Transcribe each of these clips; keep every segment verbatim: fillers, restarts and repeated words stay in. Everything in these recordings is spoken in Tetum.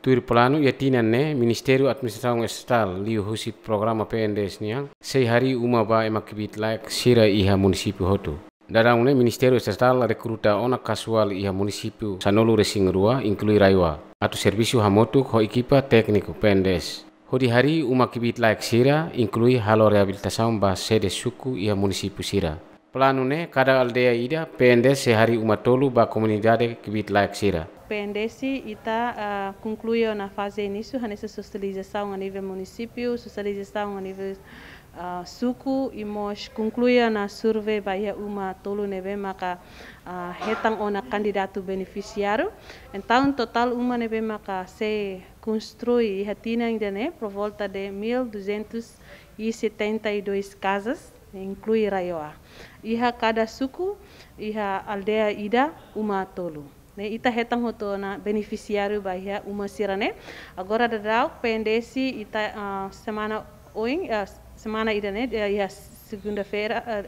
Tuir planu iha tinan ne'e, Ministériu Administrasaun Estatál liuhusi programa P N D S nian sei harii uma ba ema kbiit-laek sira iha munisípiu hotu. Daudaun ne'e Ministériu Estatál rekruta ona kasuál iha munisípiu sanulu-resin-rua, inklui RAEOA, atu servisu hamutuk ho ekipa tékniku P N D S hodi harii uma kbiit-laek sira, inklui halo reabilitasaun ba sede suku iha munisípiu sira. Planu ne'e, kada aldeia ida, P N D S sei harii uma tolu ba komunidade kbiit-laek sira. P N D S ita, ah, konklui ona faze inísiu, hanesan sosializasaun a nivel munisípiu, sosializasaun a nivel, ah, suku, i mós konklui ona survei ba iha uma tolu ne'ebé maka, ah, hetan ona kandidatu benefisiáriu. Entaun, totál uma ne'ebé maka sei konstrui iha tinan ida-ne'e por volta de mil duzentos e setenta e dois casas, inklui RAEOA. Iha kada suku, iha aldeia ida, uma tolu. Ne'e, ita hetan hotu ona benefisiáriu ba iha uma sira-ne'e. Agora daudaun, P N D S ita, ah, semana oin, ah, semana ida-ne'e, eh, iha segunda-feira, eh,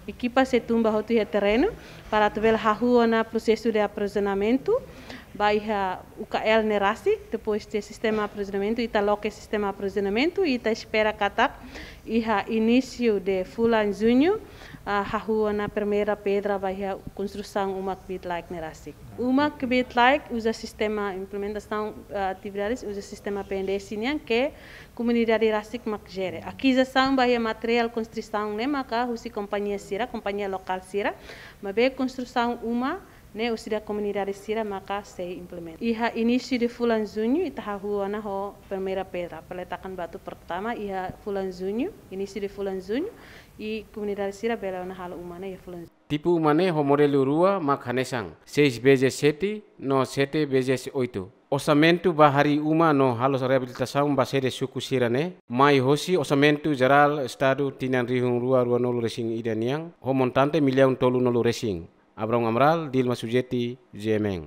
ekipa sei tun ba hotu iha terrenu para atu bele hahú ona prosesu de aprovizionamentu ba iha U K L ne'e rasik, depois de sistema aprovizionamentu, ita loke sistema aprovizionamentu, ita espera katak iha inísiu de fulan juñu, ah, hahú ona primeira pedra ba iha konstrusaun uma kbiit-laek ne'e rasik. Uma kbiit-laek uza sistema implementasaun, ah, atividades, uza sistema P N D S nian ke komunidade rasik mak jere. Akizisaun ba iha materiál konstrusaun ne'e maka husi kompañia sira, kompañia lokál sira, maibé konstrusaun uma ne'e husi komunidade sira maka sei implementa. Iha inísiu de fulan juñu ita hahú ona ho primeira pedra, peletakan batu pertama iha fulan juñu, inísiu de fulan juñu, i komunidade sira bele ona halo uma ne'e iha fulan juñu. Tipu uma ne'e ho modelu rua mak hanesan seis vezes sete no sete vezes oito. Orsamentu ba harii uma no halo reabilitasaun ba sede suku sira-ne'e mai hosi Orsamentu Jerál Estadu tinan rihun rua ruanulu-resin-ida nian, ho montante millaun tolunulu-resin. Abrão Amaral, Dilma Sujeti, G M N.